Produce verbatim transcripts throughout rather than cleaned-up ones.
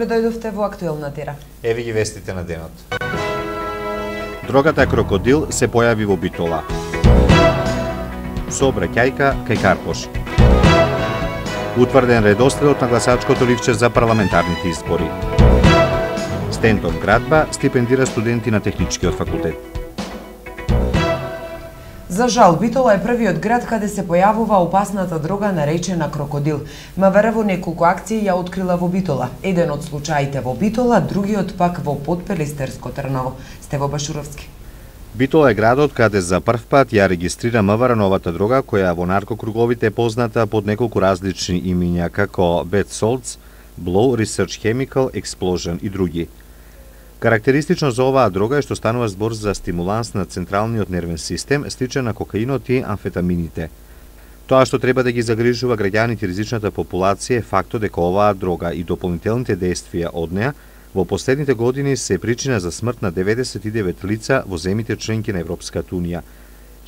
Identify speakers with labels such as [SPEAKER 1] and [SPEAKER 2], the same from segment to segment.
[SPEAKER 1] Добре дојдовте во актуелна тера.
[SPEAKER 2] Еви ги вестите на денот.
[SPEAKER 3] Дрогата крокодил се појави во Битола. Сообраќајка кај Карпош. Утврден редоследот на гласачкото ливче за парламентарните избори. Стентон градба стипендира студенти на техничкиот факултет.
[SPEAKER 1] За жал, Битола е првиот град каде се појавува опасната дрога наречена крокодил. МВР во неколку акции ја открила во Битола. Еден од случаите во Битола, другиот пак во Подпелистерско Трново. Стево Башуровски.
[SPEAKER 3] Битола е градот каде за прв пат ја регистрира МВР новата дрога, која во наркокруговите е позната под неколку различни имиња како Bad Salts, Blow Research Chemical, Explosion и други. Карактеристично за оваа дрога е што станува збор за стимуланс на централниот нервен систем, сличен на кокаинот и амфетамините. Тоа што треба да ги загрижува граѓаните и ризичната популација е фактот дека оваа дрога и дополнителните действија од неа во последните години се причина за смрт на деветдесет и девет лица во земјите членки на Европската унија.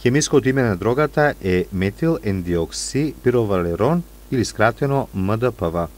[SPEAKER 3] Хемиското име на дрогата е метил ендиокси пировалерон или скратено М Д П В.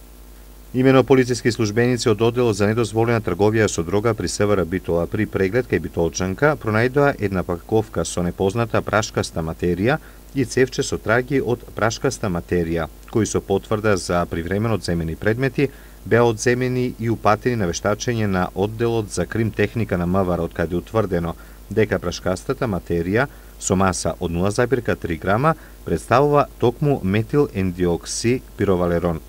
[SPEAKER 3] Имено полициски службеници од одделот за недозволена трговија со дрога при СВР Битола при преглед кај битолчанка пронајдоа една паковка со непозната прашкаста материја и цевче со траги од прашкаста материја, кои со потврда за привремено земени предмети беа одземени и упатени на вештачење на одделот за крим техника на МВР, од каде утврдено дека прашкастата материја со маса од нула зарез три грама представува токму метил ендиокси пировалерон.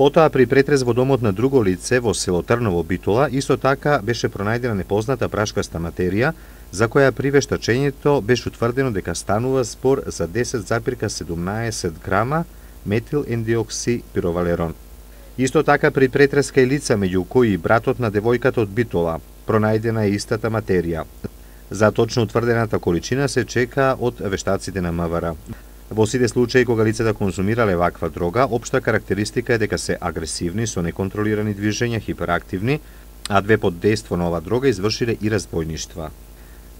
[SPEAKER 3] Потоа при претрез во домот на друго лице во село Трново Битола исто така беше пронајдена непозната прашкаста материја, за која при вештачењето беше утврдено дека станува збор за десет зарез седумнаесет грама метил ендиокси пировалерон. Исто така при претрез кај лица меѓу кои братот на девојката од Битола пронајдена е истата материја. За точно утврдената количина се чека од вештаците на МВР. Во сите случаи кога лицата конзумирале ваква дрога, општа карактеристика е дека се агресивни со неконтролирани движења, хиперактивни, а две под дејство на оваа дрога извршиле и разбојништва.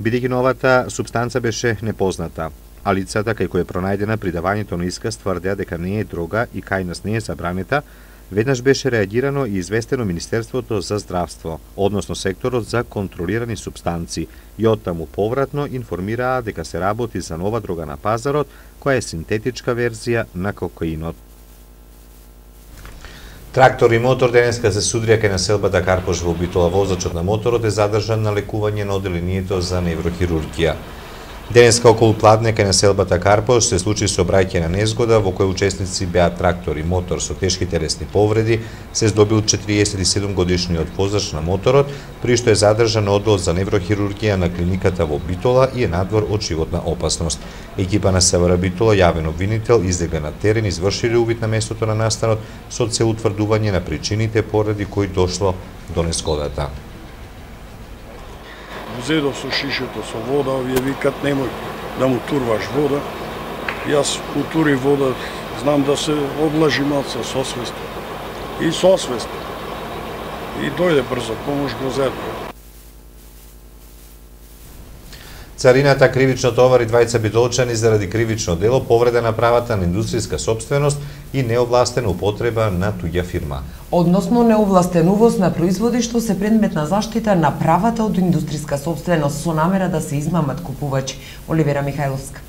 [SPEAKER 3] Бидејќи новата супстанца беше непозната, а лицата кај кои е пронајдена при давањето на исказ тврдеа дека не е дрога и кај нас не е забранета, веднаш беше реагирано и известено Министерството за здравство, односно секторот за контролирани супстанци, и оттаму повратно информираа дека се работи за нова дрога на пазарот, која е синтетичка верзија на кокаинот.
[SPEAKER 2] Трактор и мотор денеска се судрија кај населбата Карпош во Битола. Возачот на моторот е задржан на лекување на одделението за неврохирургија. Денеска околу Пладне кај населбата Карпош се случи сообраќајна незгода во која учесници беа трактор и мотор со тешки телесни повреди, се здобил четириесет и седум годишниот возач на моторот, при што е задржан на оддел за неврохирургија на клиниката во Битола и е надвор од животна опасност. Екипа на СВР Битола, јавен обвинител, излегла на терен, извршиле увид на местото на настанот со цел утврдување на причините поради кои дошло до незгодата.
[SPEAKER 4] Зедов со шишето со вода, овие викат немој да му турваш вода. Јас утури вода, знам да се облажи малце со свест. И со свест. И дојде брзо помош, го зедва.
[SPEAKER 2] Царината кривично товари двајца битолчани заради кривично дело, повреда на правата на индустријска сопственост и неовластена употреба на туѓа фирма.
[SPEAKER 1] Односно неовластен увоз на производи што се предмет на заштита на правата од индустријска сопственост со намера да се измамат купувачи. Оливера Михајловска.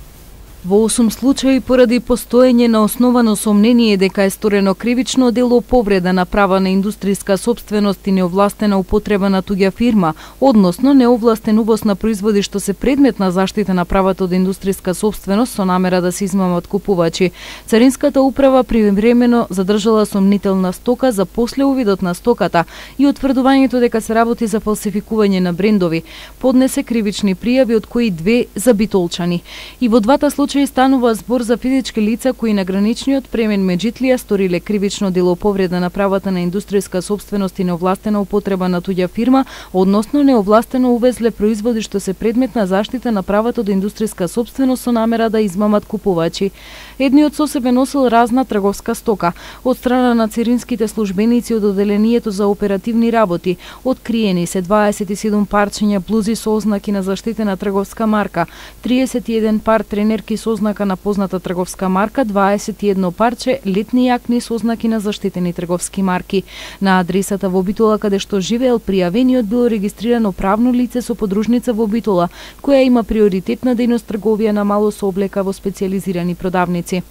[SPEAKER 5] Во осум случаи поради постоење на основано сомнение дека е сторено кривично дело, повреда на права на индустријска сопственост и неовластена употреба на туѓа фирма, односно неовластен увоз на производи што се предмет на заштита на правата од индустријска сопственост со намера да се измамат купувачи. Царинската управа привремено задржала сомнителна стока за после увидот на стоката и утврдувањето дека се работи за фалсификување на брендови. Поднесе кривични пријави, од кои две за битолчани. И во двата случаи станува збор за физички лица кои на граничниот премен Меджитлија сториле кривично дело повреда на правата на индустријска сопственост и неовластена употреба на туѓа фирма, односно неовластено увезле производи што се предмет на заштита на правата од индустријска сопственост со намера да измамат купувачи. Едниот со себе носел разна трговска стока. Од страна на царинските службеници од одделението за оперативни работи откриени се дваесет и седум парчиња блузи со ознаки на заштитена трговска марка, триесет и еден пар тренерки со ознака на позната трговска марка, дваесет и едно парче летни јакни со ознаки на заштитени трговски марки. На адресата во Битола каде што живеел пријавениот било регистрирано правно лице со подружница во Битола, која има приоритетна дејност трговија на мало со облека во специјализирани продавници.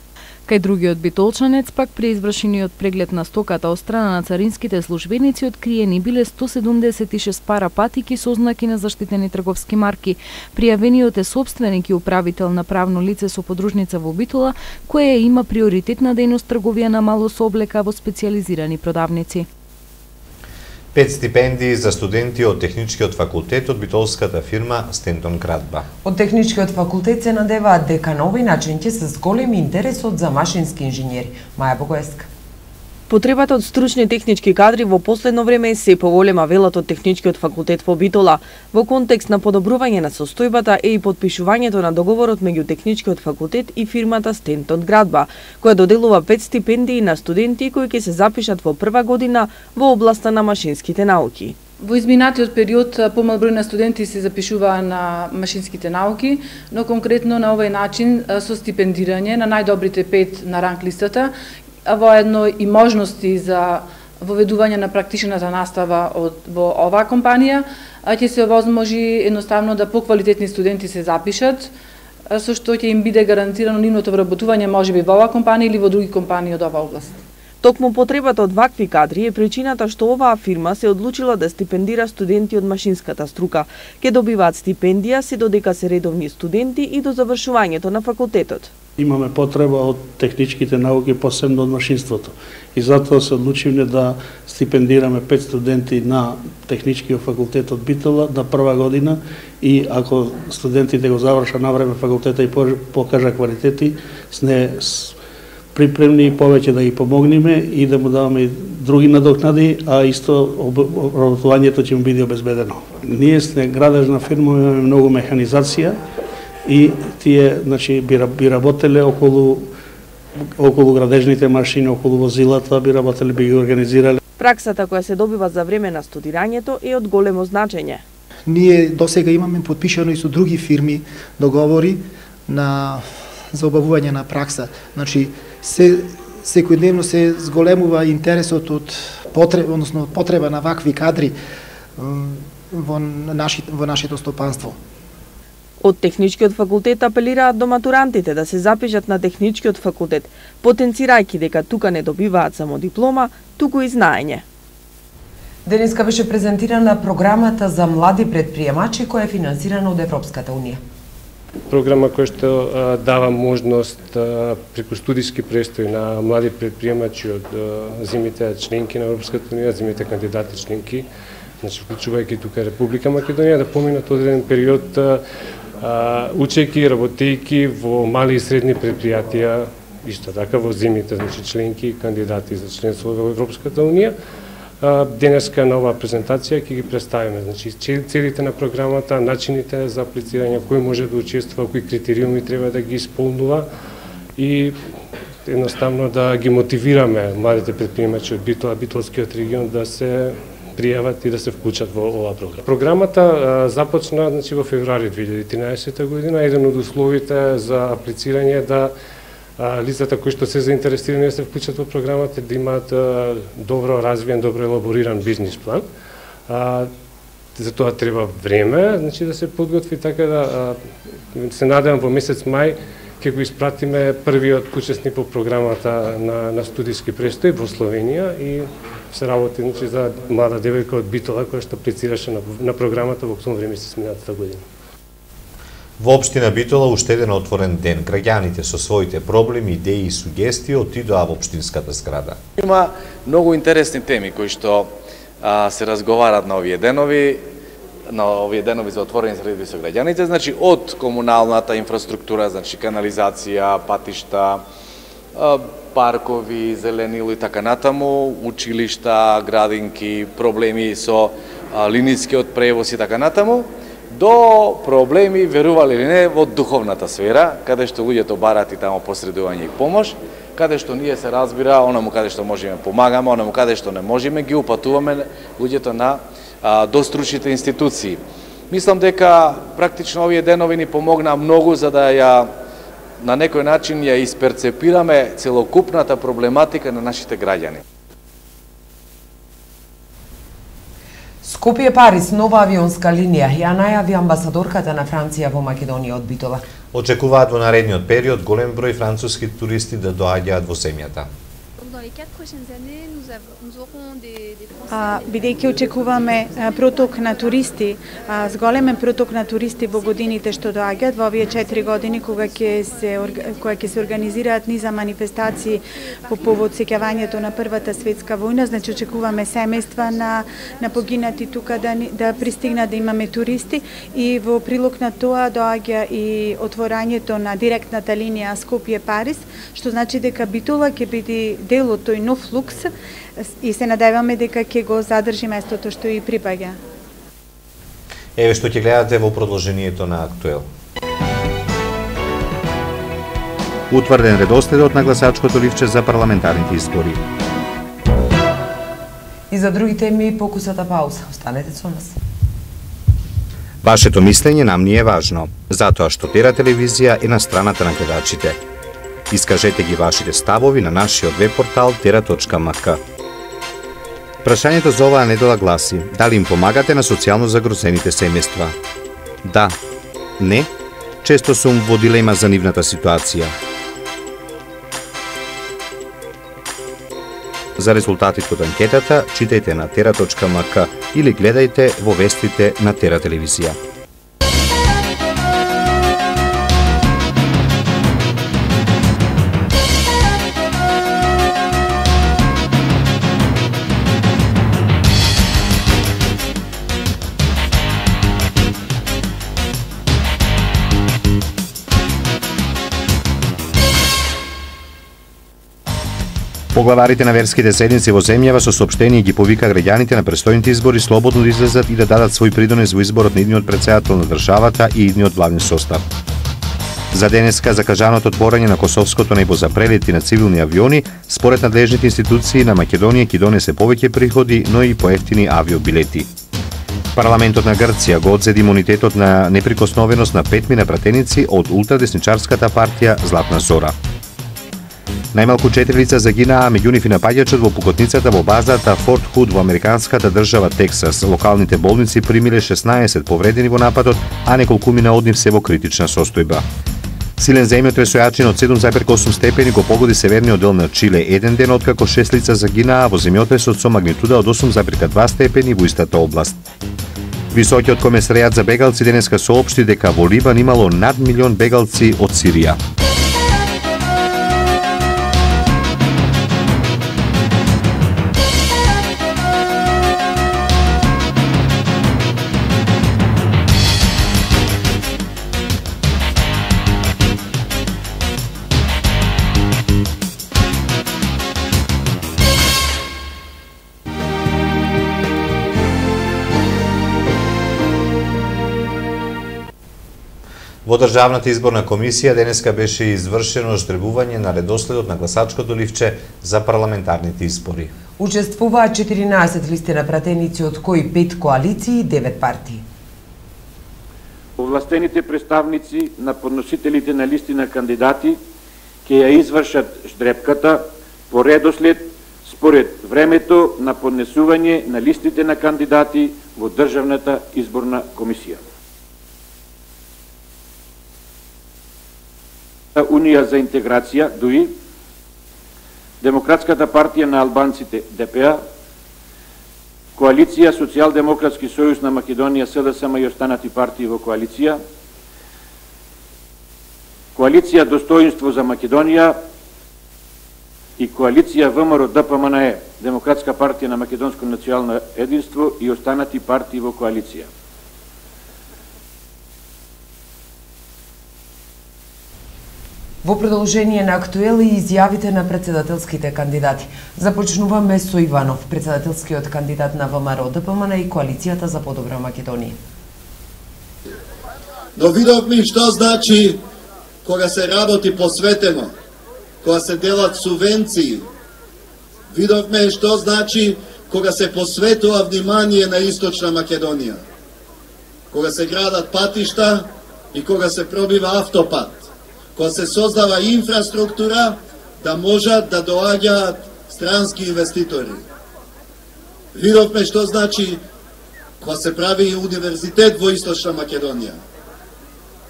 [SPEAKER 5] Кај другиот битолчанец пак при извршениот преглед на стоката од страна на царинските службеници откриени биле сто седумдесет и шест пара патики со ознаки на заштитени трговски марки. Пријавениот е сопственик и управител на правно лице со подружница во Битола, која има приоритетна дејност трговија на мало со облека во специјализирани продавници.
[SPEAKER 2] Пет стипендии за студенти од Техничкиот факултет од битолската фирма Стентон Крадба.
[SPEAKER 1] Од Техничкиот факултет се надеваат дека нови начинки се с голем интересот за машински инженери. Маја Богоевска.
[SPEAKER 6] Потребата од стручни технички кадри во последно време е се поголема, велат од Техничкиот факултет во Битола. Во контекст на подобрување на состојбата е и подпишувањето на договорот меѓу Техничкиот факултет и фирмата Стентон Крадба, која доделува пет стипендии на студенти кои ќе се запишат во прва година во областа на машинските науки.
[SPEAKER 7] Во изминатиот период помал број на студенти се запишуваа на машинските науки, но конкретно на овој начин со стипендирање на најдобрите пет на ранг листата, а воедно и можности за воведување на практичната настава од, во оваа компанија, ќе се овозможи едноставно да поквалитетни студенти се запишат, со што ќе им биде гарантирано нивното вработување можеби во оваа компанија или во други компании од оваа област.
[SPEAKER 6] Токму потребата од вакви кадри е причината што оваа фирма се одлучила да стипендира студенти од машинската струка. Ке добиваат стипендија се додека се редовни студенти и до завршувањето на факултетот.
[SPEAKER 4] Имаме потреба од техничките науки, посебно од машинството. И затоа се одлучивме да стипендираме пет студенти на Техничкиот факултет од Битола на прва година и ако студентите го завршат на време факултета и покажа квалитети, сме припремни и повеќе да ги помогнеме и да му даваме и други надокнади, а исто обработувањето ќе му биде обезбедено. Ние сме градежна фирма, имаме многу механизација и тие, значи, би, би работеле околу околу градежните машини, околу возилата, би работеле, би ги организирале.
[SPEAKER 6] Праксата која се добива за време на студирањето е од големо значење.
[SPEAKER 8] Ние досега имаме подпишано и со други фирми договори на за обавување на пракса. Значи, се секојдневно се зголемува интересот од потреба, односно потреба на вакви кадри во нашите во нашето стопанство.
[SPEAKER 6] Од Техничкиот факултет апелираат до матурантите да се запишат на Техничкиот факултет, потенцирајќи дека тука не добиваат само диплома, туку и знаење.
[SPEAKER 1] Денеска беше презентирана програмата за млади предприемачи која е финансирана од Европската унија.
[SPEAKER 9] Програма која што а, дава можност а, преку студиски престој на млади предприемачи од а, земјите членки на Европската унија, земјите кандидати членки, значи вклучувајќи тука Република Македонија, да поминат одреден период а, учејќи, работејќи во мали и средни предпријатија, исто така во земјите, значи членки кандидати за членство во Европската унија. Денеска на оваа презентација ќе ги представиме, значи целите на програмата, начините за аплицирање, кој може да учествува, кои критериуми треба да ги исполнува и едноставно да ги мотивираме младите предприемачи од Битола, Битолскиот регион да се пријават и да се вклучат во оваа програма. Програмата а, започна, значи, во февруари две илјади и тринаесета година. Еден од условите за аплицирање е да а, лицата кои што се заинтересирани да се вклучат во програмата да имаат а, добро развиен, добро елабориран бизнис план. А, за тоа треба време, значи да се подготви, така да а, се надевам во месец мај ќе го испратиме првиот учесник во програмата на, на студиски престој во Словенија и се работи, значи, за млада девојка од Битола која што аплицираше на, на програмата во октомври месец минатата година.
[SPEAKER 2] Во општина Битола уште еден отворен ден. Граѓаните со своите проблеми, идеи и сугестии отидоа во општинската зграда.
[SPEAKER 10] Има многу интересни теми кои што а, се разговарат на овие денови, на овие денови за отворени среди со граѓаните, значи од комуналната инфраструктура, значи канализација, патишта, а, паркови, зеленило и така натаму, училишта, градинки, проблеми со а, линискиот превоз и така натаму, до проблеми, верували или не, во духовната сфера, каде што луѓето барат и тамо посредување и помош, каде што ние се разбира, онаму каде што можеме помагаме, онаму каде што не можеме, ги упатуваме луѓето на а, до стручните институции. Мислам дека практично овие денови ни помогна многу за да ја на некој начин ја исперцепираме целокупната проблематика на нашите граѓани.
[SPEAKER 1] Скопје Париз, нова авионска линија, ја најави амбасадорката на Франција во Македонија од Битола.
[SPEAKER 2] Очекуваат во наредниот период голем број француски туристи да доаѓаат во земјата.
[SPEAKER 11] А, бидејќи очекуваме а, проток на туристи, а, зголемен проток на туристи во годините што доаѓаат во овие четири години кога ќе се кога ќе се организираат низа манифестации по повод сеќавањето на Првата светска војна, значи очекуваме семејства на на погинати тука да да пристигнат, да имаме туристи, и во прилог на тоа доаѓа и отворањето на директната линија Скопје Париз, што значи дека Битола ќе биде дел од тој нов лукс и се надеваме дека ќе го задржи местото што и припаѓа.
[SPEAKER 2] Еве што ќе гледате во продолжението на Актуел.
[SPEAKER 3] Утврден редоследот на гласачкото ливче за парламентарните избори.
[SPEAKER 1] И за други теми покусата пауза. Останете со нас.
[SPEAKER 3] Вашето мислење нам ни е важно, затоа што Тера телевизија е на страната на гледачите. Искажете ги вашите ставови на нашиот веб портал тера точка ем ка. Прашањето за оваа недела гласи: дали им помагате на социјално загрозените семејства? Да, не, често сум во дилема за нивната ситуација. За резултатите од анкетата читајте на тера точка ем ка или гледајте во вестите на Тера телевизија. Поглаварите на верските заедници во земјава со соопштение ги повика граѓаните на престојните избори слободно да излезат и да дадат свој придонес во изборот на идниот претседател на државата и идниот главни состав. За денеска закажаното отворање на косовското небо за прелети на цивилни авиони, според надлежните институции на Македонија ќе донесе повеќе приходи, но и поевтини авиобилети. Парламентот на Грција го одзеди имунитетот на неприкосновеност на петмина пратеници од ултрадесничарската партија Златна Зора. Најмалку четири лица загинаа, меѓу нив и напаѓачот во пукотницата во базата Форт Худ во американската држава Тексас. Локалните болници примиле шеснаесет повредени во нападот, а неколкумина од нив се во критична состојба. Силен земјотрес со јачина од седум зарез осум степени го погоди северниот дел на Чиле еден ден откако шест лица загинаа во земјотресот со магнитуда од осум зарез два степени во истата област. Високиот комесаријат за бегалци денеска соопшти дека во Либан имало над милион бегалци од Сирија.
[SPEAKER 2] Во Државната изборна комисија денеска беше извршено ждребување на редоследот на гласачкото ливче за парламентарните избори.
[SPEAKER 1] Учествуваат четиринаесет листи на пратеници, од кои пет коалиции и девет партии.
[SPEAKER 12] Овластените представници на подносителите на листи на кандидати ќе ја извршат ждребката по редослед според времето на поднесување на листите на кандидати во Државната изборна комисија. Унија за интеграција, ДУИ, Демократската партија на албанците, Д П А, Коалиција Социјалдемократски сојуз на Македонија, С Д С М и останати партии во коалиција, Коалиција Достоинство за Македонија и Коалиција В М Р Д П М Н Е, Демократска партија на Македонско национално единство и останати партии во коалиција.
[SPEAKER 1] Во продолжение на Актуел и изјавите на председателските кандидати. Започнуваме со Иванов, председателскиот кандидат на В М Р Д П М Н и Коалицијата за подобра Македонија.
[SPEAKER 13] Но видовме што значи кога се работи посветено, кога се делат субвенции. Видовме што значи кога се посветува внимание на Источна Македонија. Кога се градат патишта и кога се пробива автопат. кога се создава инфраструктура, да можат да доаѓаат странски инвеститори. Видовме што значи кога се прави универзитет во Источна Македонија.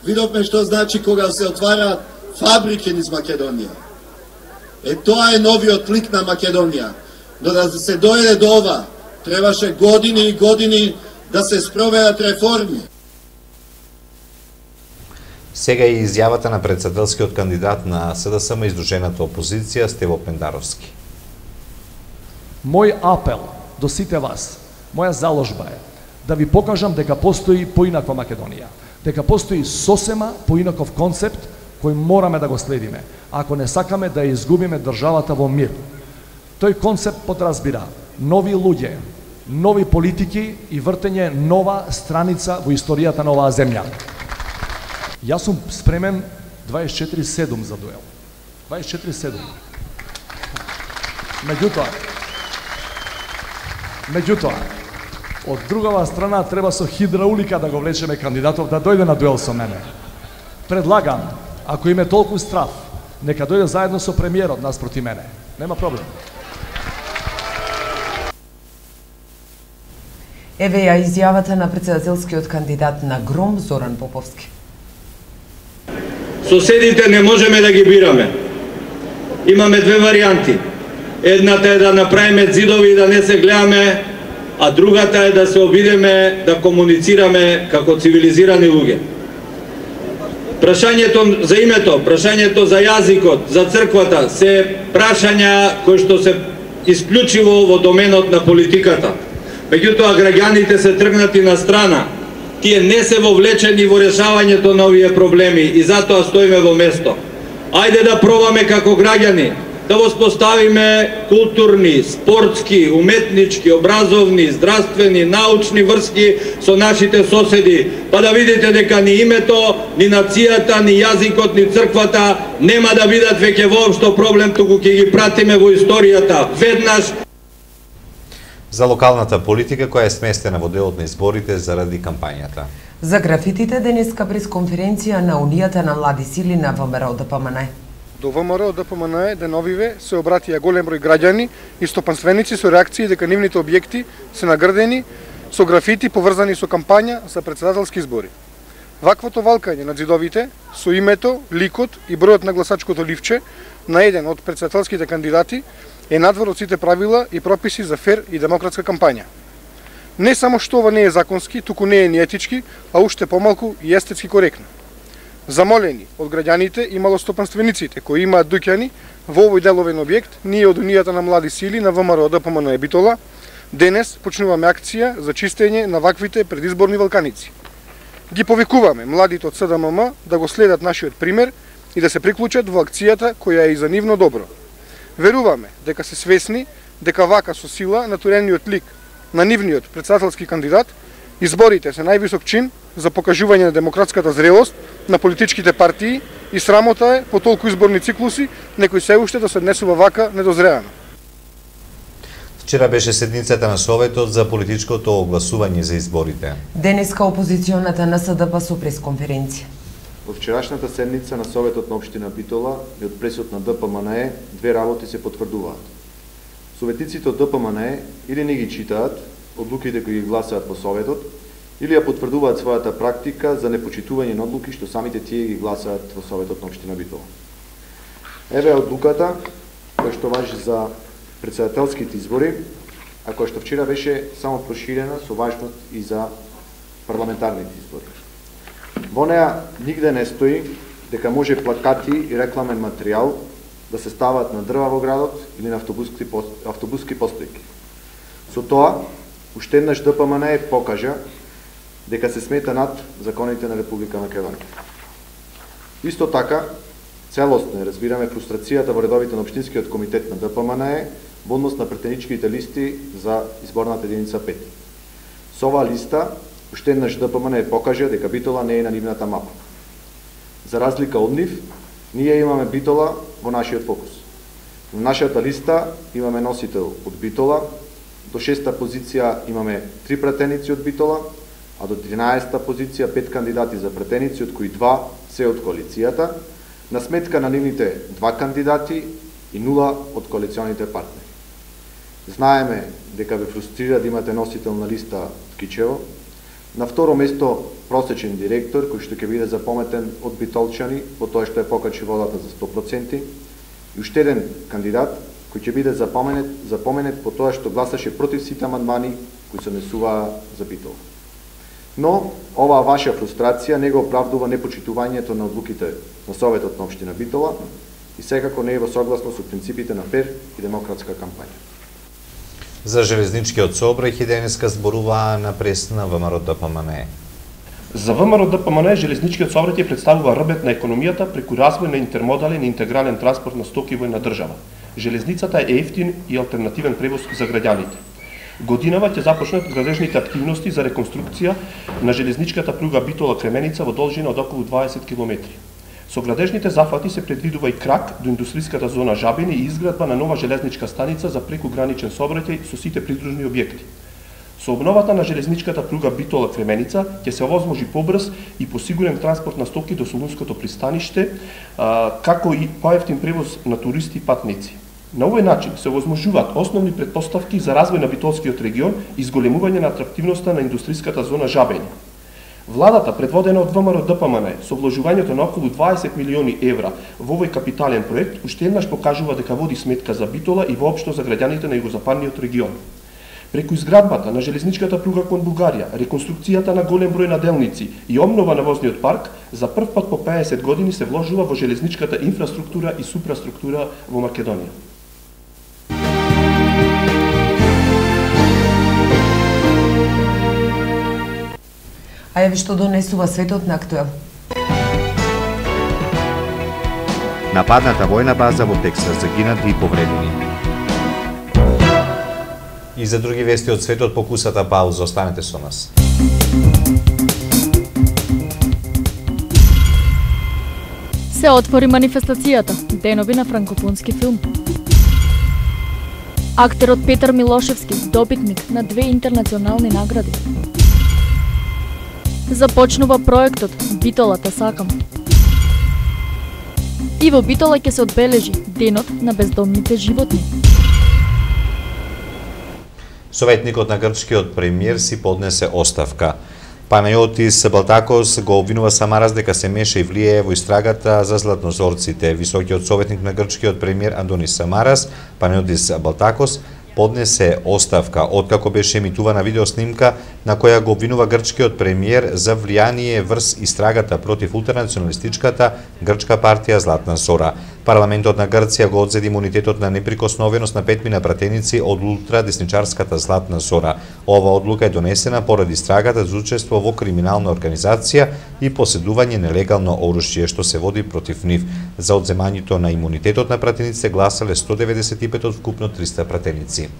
[SPEAKER 13] Видовме што значи кога се отвараат фабрики низ Македонија. Е, тоа е новиот лик на Македонија. Но да се дојде до ова, требаше години и години да се спроведат реформи.
[SPEAKER 2] Сега и изјавата на председателскиот кандидат на СДСМ издружената опозиција Стево Пендаровски.
[SPEAKER 14] Мој апел до сите вас, моја заложба е да ви покажам дека постои поинаква Македонија, дека постои сосема поинаков концепт кој мораме да го следиме, ако не сакаме да изгубиме државата во мир. Тој концепт подразбира нови луѓе, нови политики и вртење нова страница во историјата на оваа земја. Јас сум спремен дваесет и четири седум за дуел. дваесет и четири седум. Меѓутоа, меѓутоа, од другава страна треба со хидраулика да го влечеме кандидатов да дојде на дуел со мене. Предлагам, ако име толку страв, нека дојде заедно со премиерот наспроти мене. Нема проблем.
[SPEAKER 1] Еве ја изјавата на председателскиот кандидат на ГРОМ Зоран Поповски.
[SPEAKER 15] Соседите не можеме да ги бираме. Имаме две варијанти. Едната е да направиме зидови и да не се гледаме, а другата е да се обидеме да комуницираме како цивилизирани луѓе. Прашањето за името, прашањето за јазикот, за црквата се прашања кои што се исклучиво во доменот на политиката. Меѓутоа граѓаните се тргнати на страна. Тие не се вовлечени во решавањето на овие проблеми и затоа стоиме во место. Ајде да пробаме како граѓани да воспоставиме културни, спортски, уметнички, образовни, здравствени, научни врски со нашите соседи, па да видите дека ни името, ни нацијата, ни јазикот, ни црквата нема да бидат веќе воопшто проблем, туку ќе ги пратиме во историјата веднаш.
[SPEAKER 2] За локалната политика која е сместена во делот на изборите заради кампањата.
[SPEAKER 1] За графитите денеска пресконференција на Унијата на млади сили на ВМРО ДПМН.
[SPEAKER 16] До ВМРО ДПМН деновиве се обратија голем број граѓани и стопанственици со реакции дека нивните објекти се наградени со графити поврзани со кампања за председателски избори. Ваквото валкање на ѕидовите со името, ликот и бројот на гласачкото ливче на еден од председателските кандидати е надвор од сите правила и прописи за фер и демократска кампања. Не само што ова не е законски, туку не е ни етички, а уште помалку и естетски коректно. Замолени од граѓаните и малостопанствениците кои имаат дуќани во овој деловен објект, ние од Унијата на млади сили на ВМРО ДПМН Битола денес почнуваме акција за чистење на ваквите предизборни валканици. Ги повикуваме младите од СДММ да го следат нашиот пример и да се приклучат во акцијата која е и за нивно добро. Веруваме дека се свесни дека вака со сила натурениот лик на нивниот председателски кандидат изборите се највисок чин за покажување на демократската зрелост на политичките партии и срамота е по толку изборни циклуси некој се уште да се однесува вака недозреано.
[SPEAKER 2] Вчера беше седницата на Советот за политичкото огласување за изборите.
[SPEAKER 1] Денеска опозиционата НСДП со пресконференција.
[SPEAKER 17] Во вчерашната седница на Советот на општина Битола и од пресот на ДПМНЕ две работи се потврдуваат. Советниците од ДПМНЕ или не ги читаат одлуките кои ги гласаат во Советот, или ја потврдуваат својата практика за непочитување на одлуки што самите тие ги гласаат во Советот на општина Битола. Еве одлуката која што важи за председателските избори, а која што вчера беше само проширена со важност и за парламентарните избори. Во неа нигде не стои дека може плакати и рекламен материјал да се стават на дрва во градот или на автобуски, автобуски постојки. Со тоа, уште еднаш ДПМН покажа дека се смета над законите на Република Македонија. Исто така, целосно разбираме фрустрацијата во редовите на Општинскиот комитет на ДПМН во однос на претеничките листи за изборната единица пет. Со оваа листа, уште еднаш ДПМН покажа дека Битола не е на нивната мапа. За разлика од нив, ние имаме Битола во нашиот фокус. На нашата листа имаме носител од Битола, до шеста позиција имаме три пратеници од Битола, а до тринаесета позиција пет кандидати за пратеници, од кои два се од коалицијата, на сметка на нивните два кандидати и нула од коалиционите партнери. Знаеме дека ве фрустрира да имате носител на листа Ткичево. На второ место просечен директор кој што ќе биде запаметен од битолчани по тоа што е покачи водата за сто проценти и уште еден кандидат кој ќе биде запоменет, запоменет по тоа што гласаше против сите амандмани кои се однесуваа за Битола. Но оваа ваша фрустрација не го оправдува непочитувањето на одлуките на Советот на општина Битола и секако не е во согласност со принципите на фер и демократска кампања.
[SPEAKER 2] За железничкиот сообраќај денеска зборуваа на пресна ВМРО ДПМНЕ.
[SPEAKER 18] За ВМРО ДПМНЕ железничкиот сообраќај представува рбет на економијата преку развој на интермодален и интегрален транспорт на стоки во една држава. Железницата е ефтин и алтернативен превоз за граѓаните. Годинава ќе започнат градежните активности за реконструкција на железничката пруга Битола-Кременица во должина од околу дваесет километри. Со градежните зафати се предвидува и крак до индустријската зона Жабени и изградба на нова железничка станица за прекуграничен сообраќај со сите придружни објекти. Со обновата на железничката пруга Битола-Кременица ќе се овозможи побрз и посигурен транспорт на стоки до Солунското пристаниште, како и поевтин превоз на туристи и патници. На овој начин се овозможуваат основни претпоставки за развој на битолскиот регион и зголемување на атрактивноста на индустријската зона Жабени. Владата, предводена од ВМРО ДПМНЕ, со вложувањето на околу дваесет милиони евра во овој капитален проект, уште еднаш покажува дека води сметка за Битола и воопшто за граѓаните на југозападниот регион. Преку изградбата на железничката пруга кон Бугарија, реконструкцијата на голем број наделници и обнова на возниот парк, за прв пат по пеесет години се вложува во железничката инфраструктура и супраструктура во Македонија.
[SPEAKER 1] А еве што донесува светот на Актуел.
[SPEAKER 3] Нападната војна база во Тексас, загинати и повредени.
[SPEAKER 2] И за други вести од светот по кусата пауза, останете со нас.
[SPEAKER 19] Се отвори манифестацијата, денови на франкофонски филм. Актерот Петар Милошевски, добитник на две интернационални награди. Започнува проектот Битола те сакам. И во Битола ќе се одбележи денот на бездомните животни.
[SPEAKER 2] Советникот на грчкиот премиер си поднесе оставка. Панајотис Балтакос го обвинува Самарас дека се меша и влијае во истрагата за златнозорците. Високиот советник на грчкиот премиер Андонис Самарас, Панајотис Балтакос, поднесе оставка откако беше емитувана видеоснимка на која го обвинува грчкиот премиер за влијание врз истрагата против ултранационалистичката грчка партија Златна Зора. Парламентот на Грција го одзеди имунитетот на неприкосновеност на петмина пратеници од ултрадесничарската Златна Зора. Ова одлука е донесена поради истрагата за учество во криминална организација и поседување нелегално оружје што се води против нив. За одземањето на имунитетот на пратениците гласале сто деветдесет и пет од вкупно триста пратеници.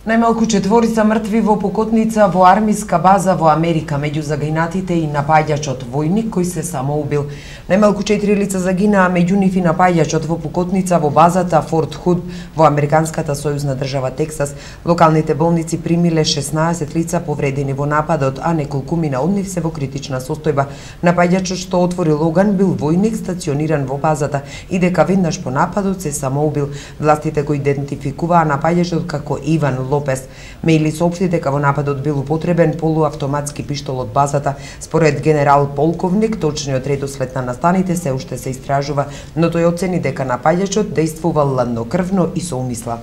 [SPEAKER 1] Најмалку четворица мртви во Покотница во армиска база во Америка, меѓу загинатите и напаѓачот војник кој се самоубил. Најмалку четири лица загинаа, меѓу нив и напаѓачот во Покотница во базата Форт Худ во американската сојузна држава Тексас. Локалните болници примиле шеснаесет лица повредени во нападот, а неколкумина од нив се во критична состојба. Напаѓачот што отворил оган бил војник стациониран во базата и дека веднаш по нападот се самоубил. Властите го идентификуваа напаѓачот како Иван Лопес. Мејли соопшти дека во нападот бил употребен полуавтоматски пиштол од базата. Според генерал полковник, точниот редослед на настаните се уште се истражува, но тој оцени дека напаѓачот дејствувал ладнокрвно и со умисла.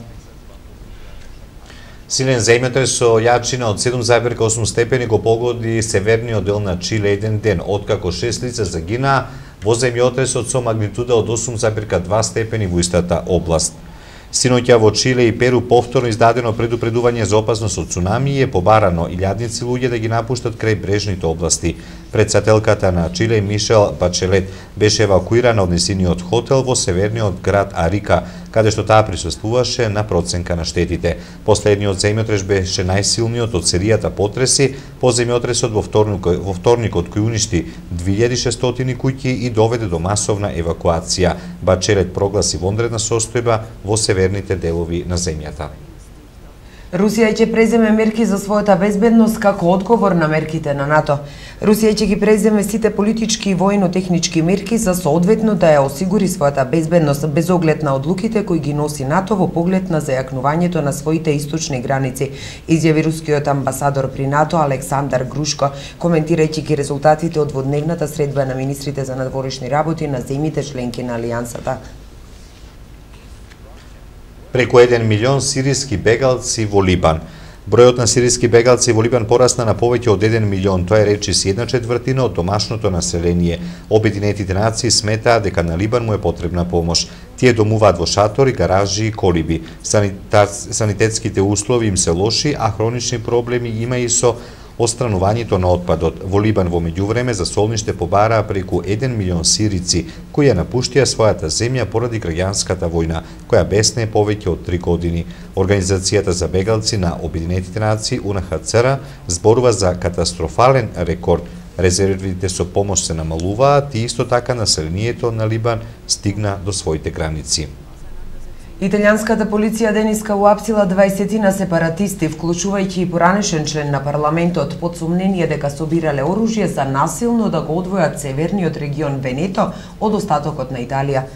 [SPEAKER 2] Силен земјотрес со јачина од седум зарез и осум степени го погоди северниот дел на Чиле еден ден, откако шест лица загинаа во земјотресот со магнитуда од осум зарез и два степени во истата област. Синоќа во Чиле и Перу повторно издадено предупредување за опасност од цунами и е побарано илјадници луѓе да ги напуштат крај брежните области. Председателката на Чиле Мишел Бачелет беше евакуирана од несиниот хотел во северниот град Арика, каде што таа присуствуваше на проценка на штетите. Последниот земјотрес беше најсилниот од серијата потреси по земјотресот во вторникот, во вторникот кој уништи две илјади и шестстотини куќи и доведе до масовна евакуација. Бачелет прогласи вонредна состојба во северните делови на земјата.
[SPEAKER 1] Русија ќе преземе мерки за својата безбедност како одговор на мерките на НАТО. Русија ќе ги преземе сите политички и војно-технички мерки за соодветно да ја осигури својата безбедност без оглед на одлуките кои ги носи НАТО во поглед на зајакнувањето на своите источни граници, изјави рускиот амбасадор при НАТО Александар Грушко, коментирајќи ги резултатите од дводневната средба на министрите за надворешни работи на земјите членки на Алијансата.
[SPEAKER 2] Преку еден милион сириски бегалци во Либан. Бројот на сириски бегалци во Либан порасна на повеќе од еден милион, тоа е речи си една четвртина од домашното население. Обединетите нации сметаат дека на Либан му е потребна помош. Тие домуваат во шатори, гаражи и колиби. Санитетските услови им се лоши, а хронични проблеми има и со отстранувањето на отпадот. Во Либан во меѓувреме за солниште побараа преку еден милион сирици, кои ја напуштија својата земја поради граѓанската војна, која бесне повеќе од три години. Организацијата за бегалци на Обединетите нации У Ен Ха Це Ер зборува за катастрофален рекорд. Резервите со помош се намалуваат и исто така населението на Либан стигна до своите граници.
[SPEAKER 1] Италијанската полиција денеска уапсила дваесетина сепаратисти, вклучувајќи и поранешен член на парламентот, под сомнение дека собирале оружје за насилно да го одвојат северниот регион Венето од остатокот на Италија.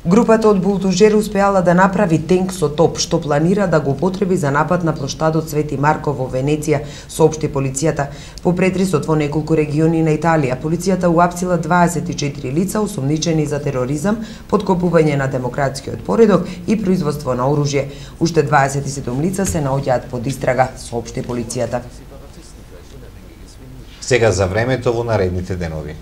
[SPEAKER 1] Групата од булдожери успеала да направи тенк со топ, што планира да го употреби за напад на плоштадот Свети Марко во Венеција, соопшти полицијата. По претресот во неколку региони на Италија, полицијата уапсила дваесет и четири лица осомничени за тероризам, подкопување на демократскиот поредок и производство на оружје. Уште дваесет и седум лица се наоѓаат под истрага, соопшти полицијата.
[SPEAKER 2] Сега за времето во наредните денови.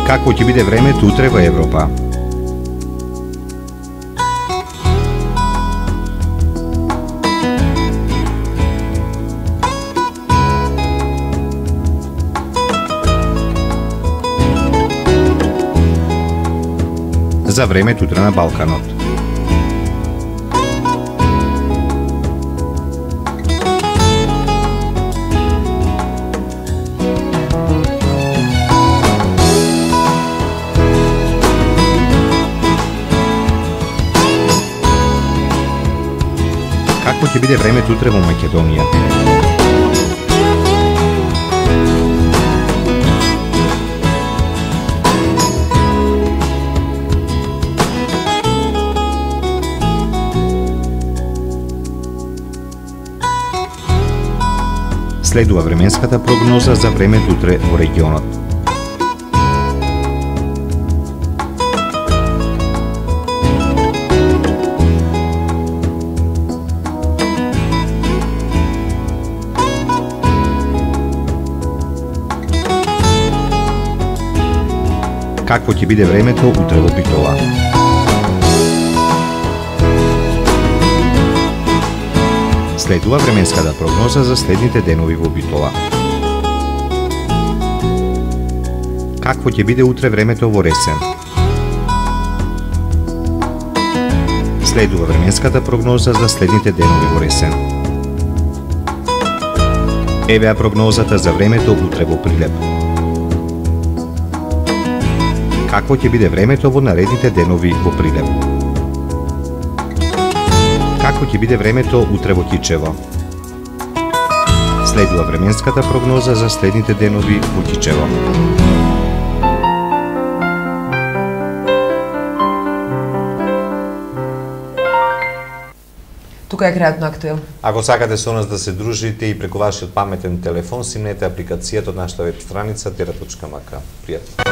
[SPEAKER 3] Какво ќе биде времето утре во Европа? За времето утре на Балканот. Какво ќе биде времето утре во Македонија? Следува временската прогноза за времето утре во регионот. Какво ќе биде времето утре во Битола? Следува временската прогноза за следните денови во Битола. Какво ќе биде утре времето во Ресен? Следува временската прогноза за следните денови во Ресен. Евеа прогнозата за времето утре во Прилеп. Какво ќе биде времето во наредните денови во Прилеп? Какво ќе биде времето утре во Кичево? Следува временската прогноза за следните денови во Кичево.
[SPEAKER 1] Тука е крајот на Актуел.
[SPEAKER 2] Ако сакате со нас да се дружите и преку вашиот паметен телефон, симнете апликацијата од нашата веб страница тера точка ем ка. Пријатно.